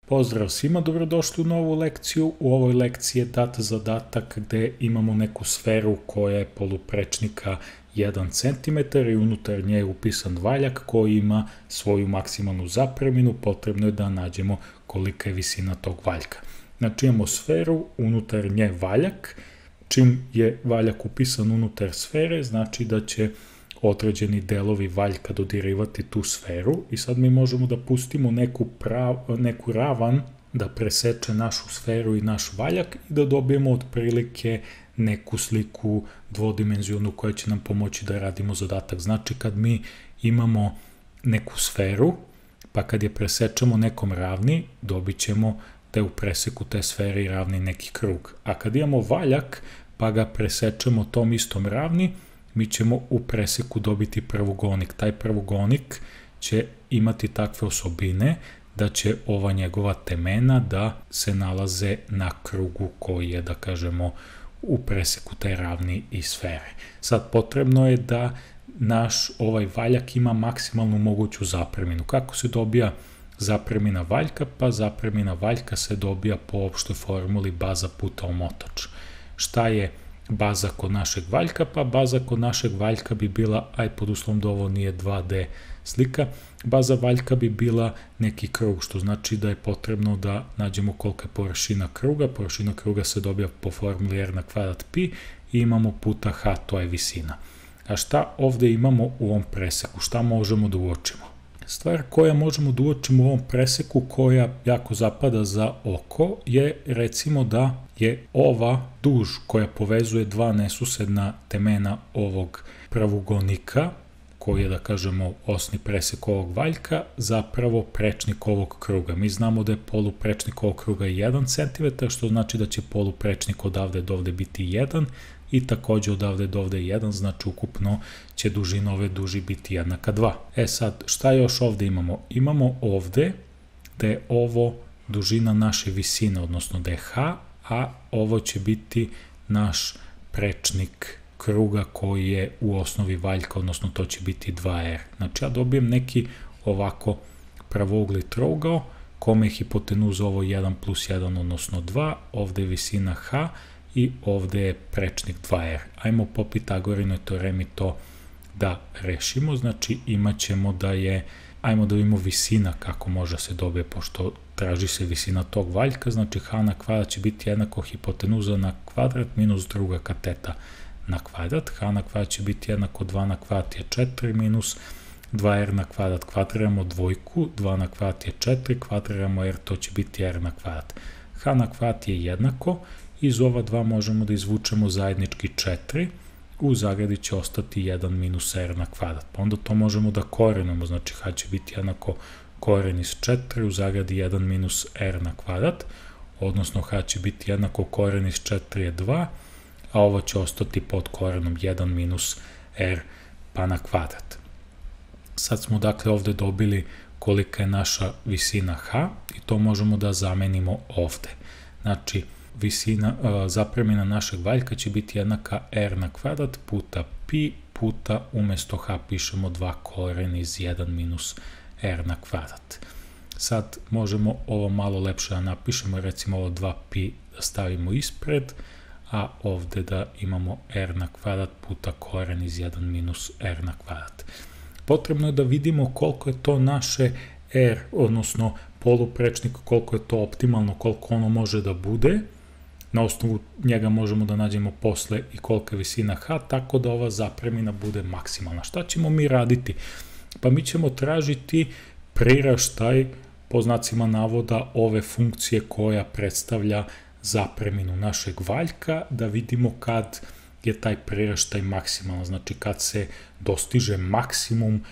Pozdrav svima, dobrodošli u novu lekciju. U ovoj lekciji je dat zadatak gde imamo neku sferu koja je poluprečnika 1 cm i unutar nje je upisan valjak koji ima svoju maksimalnu zapreminu. Potrebno je da nađemo kolika je visina tog valjka. Znači imamo sferu, unutar nje valjak. Čim je valjak upisan unutar sfere, znači da će određeni delovi valjka dodirivati tu sferu i sad mi možemo da pustimo neku ravan da preseče našu sferu i naš valjak i da dobijemo otprilike neku sliku dvodimenzionalnu koja će nam pomoći da radimo zadatak. Znači kad mi imamo neku sferu, pa kad je presečemo nekom ravni, dobit ćemo da je u preseku te sfere i ravni neki krug. A kad imamo valjak, pa ga presečemo tom istom ravni, mi ćemo u preseku dobiti prvogonik. Taj prvogonik će imati takve osobine da će ova njegova temena da se nalaze na krugu koji je, da kažemo, u preseku te ravni i sfere. Sad potrebno je da naš ovaj valjak ima maksimalnu moguću zapreminu. Kako se dobija zapremina valjka? Pa zapremina valjka se dobija po opštoj formuli baza puta omotač. Šta je baza kod našeg valjka? Pa baza kod našeg valjka bi bila, aj pod uslovom da ovo nije 2D slika, baza valjka bi bila neki krug, što znači da je potrebno da nađemo kolika je površina kruga. Površina kruga se dobija po formuli r na kvadrat pi i imamo puta h, to je visina. A šta ovde imamo u ovom preseku? Šta možemo da uočimo? Stvar koja možemo da uočimo u ovom preseku koja jako zapada za oko je recimo da je ova duž koja povezuje dva nesusedna temena ovog pravogonika, koji je, da kažemo, osni presek ovog valjka, zapravo prečnik ovog kruga. Mi znamo da je poluprečnik ovog kruga 1 cm, što znači da će poluprečnik odavde do ovde biti 1 i takođe odavde do ovde 1, znači ukupno će dužina ove duži biti jednaka 2. E sad, šta još ovde imamo? Imamo ovde da je ovo dužina naše visine, odnosno da je h, a ovo će biti naš prečnik kruga koji je u osnovi valjka, odnosno to će biti 2r. Znači ja dobijem neki ovako pravougli trougao, kome je hipotenuza ovo 1 plus 1, odnosno 2, ovde je visina h i ovde je prečnik 2r. Ajmo po Pitagorinoj teoremi to da rešimo, znači imat ćemo da je, ajmo da vidimo visina kako može se dobije, pošto traži se visina tog valjka, znači h na kvadrat će biti jednako hipotenuza na kvadrat minus druga kateta na kvadrat. H na kvadrat će biti jednako 2 na kvadrat je 4 minus 2r na kvadrat, kvadriramo dvojku, 2 na kvadrat je 4, kvadriramo r, to će biti r na kvadrat. H na kvadrat je jednako, iz ova dva možemo da izvučemo zajednički 4, u zagradi će ostati 1 minus r na kvadrat. Pa onda to možemo da korenimo, znači h će biti jednako koren iz 4, u zagradi 1 minus r na kvadrat, odnosno h će biti jednako koren iz 4 je 2, a ovo će ostati pod korenom 1 minus r pa na kvadrat. Sad smo dakle ovde dobili kolika je naša visina h i to možemo da zamenimo ovde. Znači, zapremina našeg valjka će biti jednaka r na kvadrat puta pi puta, umesto h pišemo 2 koren iz 1 minus r na kvadrat. Sad možemo ovo malo lepše da napišemo, recimo ovo 2 pi da stavimo ispred, a ovde da imamo r na kvadrat puta koren iz 1 minus r na kvadrat. Potrebno je da vidimo koliko je to naše r, odnosno poluprečnik, koliko je to optimalno, koliko ono može da bude. Na osnovu njega možemo da nađemo posle i kolika je visina h, tako da ova zapremina bude maksimalna. Šta ćemo mi raditi? Pa mi ćemo tražiti priraštaj, po znacima navoda, ove funkcije koja predstavlja zapreminu našeg valjka, da vidimo kad je taj priraštaj maksimalan, znači kad se dostiže maksimum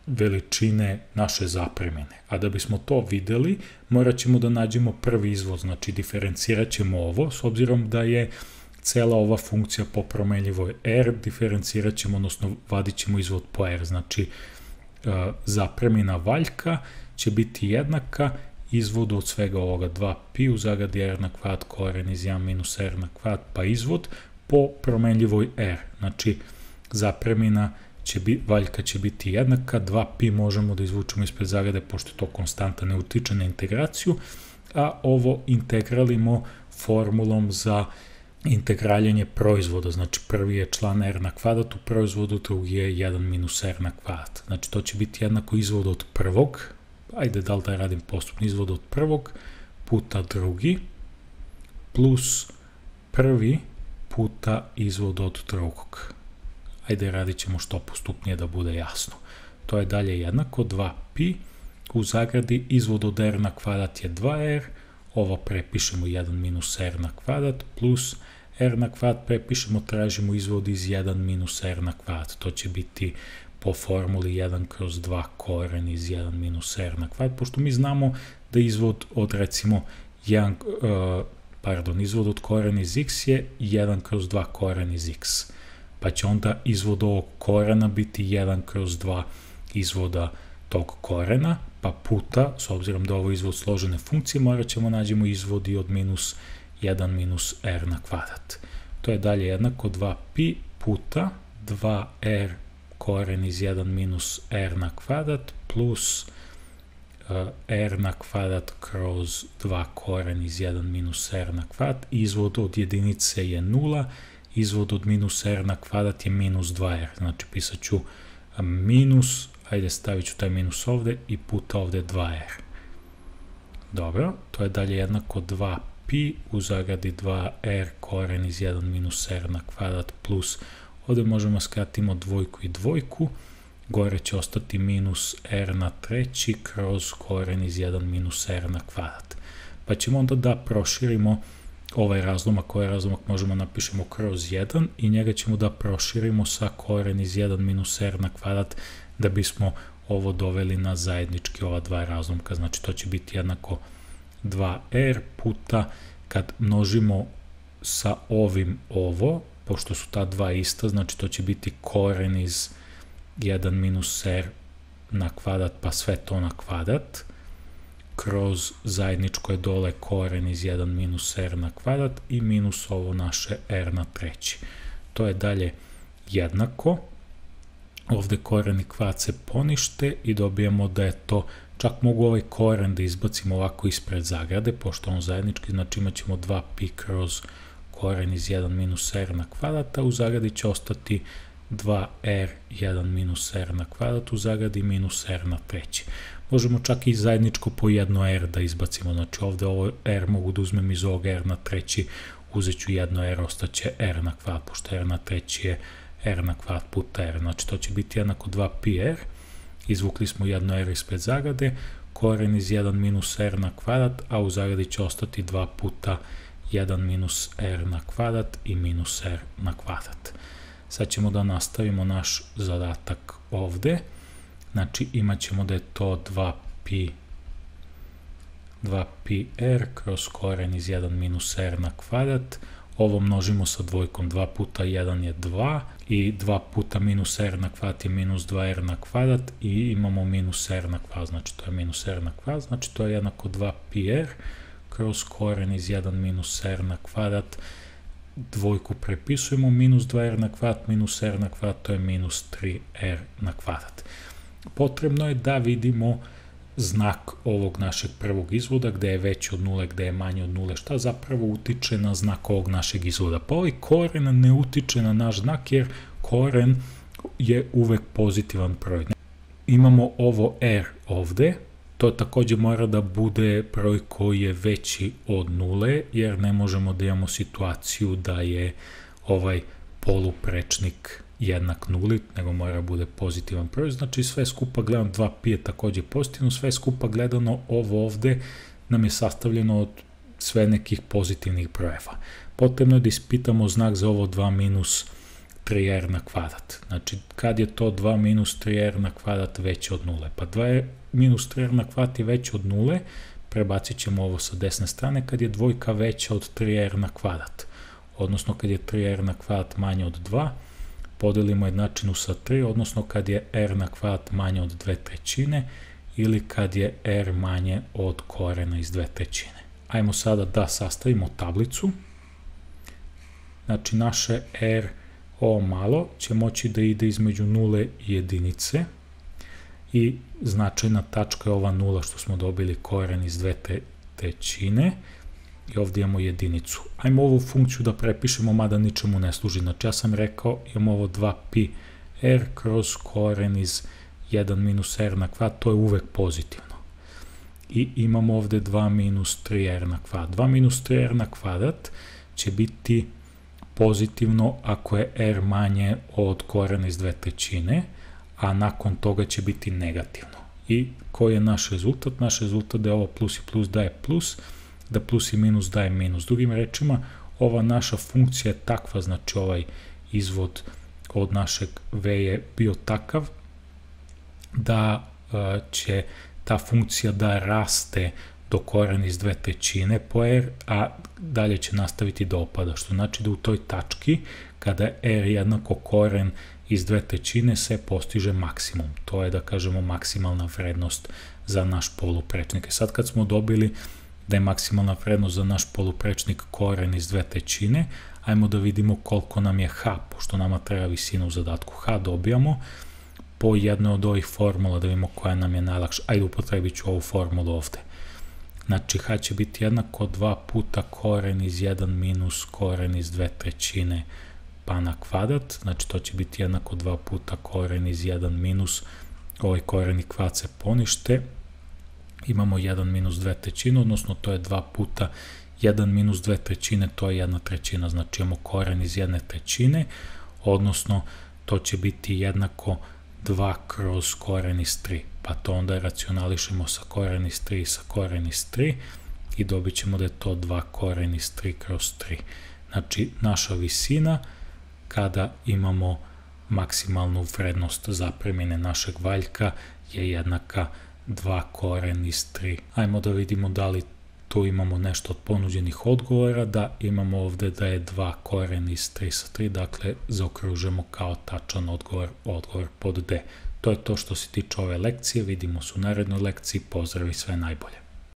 veličine naše zapremine. A da bismo to videli, morat ćemo da nađemo prvi izvod, znači diferencirat ćemo ovo, s obzirom da je cela ova funkcija po promenljivoj r, diferencirat ćemo, odnosno vadit ćemo izvod po r, znači zapremina valjka će biti jednaka izvodu od svega ovoga 2 pi u zagradi r na kvadrat koren iz 1 minus r na kvadrat pa izvod po promenljivoj r. Znači zapremina valjka će biti jednaka, 2pi možemo da izvučemo ispred zagrade, pošto to konstanta ne utiče na integraciju, a ovo integralimo formulom za integraljenje proizvoda, znači prvi je član r na kvadrat u proizvodu, drugi je 1 minus r na kvadrat. Znači to će biti jednako izvod od prvog, ajde da li da radim postupno, izvod od prvog puta drugi, plus prvi puta izvod od drugog. Ajde radit ćemo što postupnije da bude jasno. To je dalje jednako 2pi, u zagradi izvod od r na kvadrat je 2r, ovo prepišemo 1 minus r na kvadrat, plus r na kvadrat prepišemo, tražimo izvod iz 1 minus r na kvadrat. To će biti po formuli 1 kroz 2 koren iz 1 minus r na kvadrat, pošto mi znamo da izvod od recimo izvod od koren iz x je 1 kroz 2 koren iz x. Pa će onda izvod ovog korena biti 1 kroz 2 izvoda tog korena, pa puta, s obzirom da ovo je izvod složene funkcije, morat ćemo nađemo izvodi od minus 1 minus r na kvadrat. To je dalje jednako 2pi puta 2r koren iz 1 minus r na kvadrat plus r na kvadrat kroz 2 koren iz 1 minus r na kvadrat. Izvod od jedinice je 0, izvod od minus r na kvadrat je minus 2r. Znači pisat ću minus, ajde stavit ću taj minus ovde i puta ovde 2r. Dobro, to je dalje jednako 2pi u zagradi 2r koren iz 1 minus r na kvadrat plus, ovde možemo skratimo dvojku i dvojku, gore će ostati minus r na treći kroz koren iz 1 minus r na kvadrat. Pa ćemo onda da proširimo ovaj razlomak, ovaj razlomak možemo napišemo kroz 1 i njega ćemo da proširimo sa koren iz 1 minus r na kvadrat da bismo ovo doveli na zajednički ova dva razlomka. Znači to će biti jednako 2r puta, kad množimo sa ovim ovo, pošto su ta dva ista, znači to će biti koren iz 1 minus r na kvadrat pa sve to na kvadrat, kroz zajedničko je dole koren iz 1 minus r na kvadrat i minus ovo naše r na treći. To je dalje jednako, ovde koren i kvadrat se ponište i dobijemo da je to, čak mogu ovaj koren da izbacimo ovako ispred zagrade, pošto on zajednički, znači imat ćemo 2pi kroz koren iz 1 minus r na kvadrat, a u zagradi će ostati 2r 1 minus r na kvadrat, u zagradi minus r na treći. Možemo čak i zajedničko po jedno r da izbacimo, znači ovde ovo r mogu da uzmem iz ovog r na treći, uzet ću jedno r, ostaće r na kvadrat, pošto r na treći je r na kvadrat puta r, znači to će biti jednako 2πr, izvukli smo jedno r ispred zagrade, koren iz 1 minus r na kvadrat, a u zagradi će ostati 2 puta 1 minus r na kvadrat i minus r na kvadrat. Sad ćemo da nastavimo naš zadatak ovde, znači imat ćemo da je to 2πr kroz koren iz 1 minus r na kvadrat, ovo množimo sa dvojkom, 2 puta 1 je 2 i 2 puta minus r na kvadrat je minus 2r na kvadrat i imamo minus r na kvadrat, znači to je minus r na kvadrat, znači to je jednako 2πr kroz koren iz 1 minus r na kvadrat, dvojku prepisujemo, minus 2r na kvadrat minus r na kvadrat, to je minus 3r na kvadrat. Potrebno je da vidimo znak ovog našeg prvog izvoda, gde je veći od nule, gde je manji od nule, šta zapravo utiče na znak ovog našeg izvoda. Pa ovaj koren ne utiče na naš znak, jer koren je uvek pozitivan broj. Imamo ovo r ovde, to takođe mora da bude broj koji je veći od nule, jer ne možemo da imamo situaciju da je ovaj poluprečnik jednak nuli, nego mora bude pozitivan broj, znači sve skupa gledano 2pi je takođe pozitivno, sve skupa gledano ovo ovde nam je sastavljeno od sve nekih pozitivnih brojeva. Potrebno je da ispitamo znak za ovo 2 minus 3r na kvadrat, znači kad je to 2 minus 3r na kvadrat veće od nule, pa 2 minus 3r na kvadrat je veće od nule, prebacit ćemo ovo sa desne strane, kad je dvojka veća od 3r na kvadrat, odnosno kad je 3r na kvadrat manje od 2, podelimo jednačinu sa 3, odnosno kad je r na kvadrat manje od 2/3 ili kad je r manje od korena iz 2/3. Ajmo sada da sastavimo tablicu. Znači naše r ovo malo će moći da ide između 0 i jedinice i značajna tačka je ova 0 što smo dobili koren iz 2/3 i ovdje imamo jedinicu. Ajmo ovu funkciju da prepišemo, mada ničemu ne služi. Znači ja sam rekao imamo ovo 2pi r kroz koren iz 1 minus r na kvadrat, to je uvek pozitivno. I imamo ovde 2 minus 3r na kvadrat. 2 minus 3r na kvadrat će biti pozitivno ako je r manje od korena iz 2/3, a nakon toga će biti negativno. I koji je naš rezultat? Naš rezultat da je ovo plus i plus daje plus, da plus i minus daje minus. Drugim rečima, ova naša funkcija je takva, znači ovaj izvod od našeg v je bio takav da će ta funkcija da raste do korena iz 2/3 po r, a dalje će nastaviti da opada, što znači da u toj tački, kada je r jednako koren iz 2/3 se postiže maksimum. To je, da kažemo, maksimalna vrednost za naš poluprečnik. Sad kad smo dobili da je maksimalna vrednost za naš poluprečnik koren iz 2/3, ajmo da vidimo koliko nam je h, pošto nama treba visina u zadatku. H dobijamo po jednoj od ovih formula, da vidimo koja nam je najlakša. Ajde, upotrebit ću ovu formulu ovde. Znači, h će biti jednako 2 puta koren iz 1 minus koren iz 2/3 pa na kvadrat, znači to će biti jednako 2 puta koren iz 1 minus, ovaj koren i kvadrat se ponište, imamo 1 minus 2/3, odnosno to je 2 puta 1 minus 2/3, to je 1/3, znači imamo koren iz 1/3, odnosno to će biti jednako 2 kroz koren iz 3, pa to onda racionališemo sa koren iz 3 i sa koren iz 3 i dobit ćemo da je to 2 koren iz 3 kroz 3. Znači, naša visina kada imamo maksimalnu vrednost zapremine našeg valjka je jednaka 2 koren iz 3. Ajmo da vidimo da li tu imamo nešto od ponuđenih odgovora, da imamo ovde da je 2 koren iz 3 sa 3, dakle zaokružujemo kao tačan odgovor pod D. To je to što se tiče ove lekcije, vidimo se u narednoj lekciji, pozdrav i sve najbolje.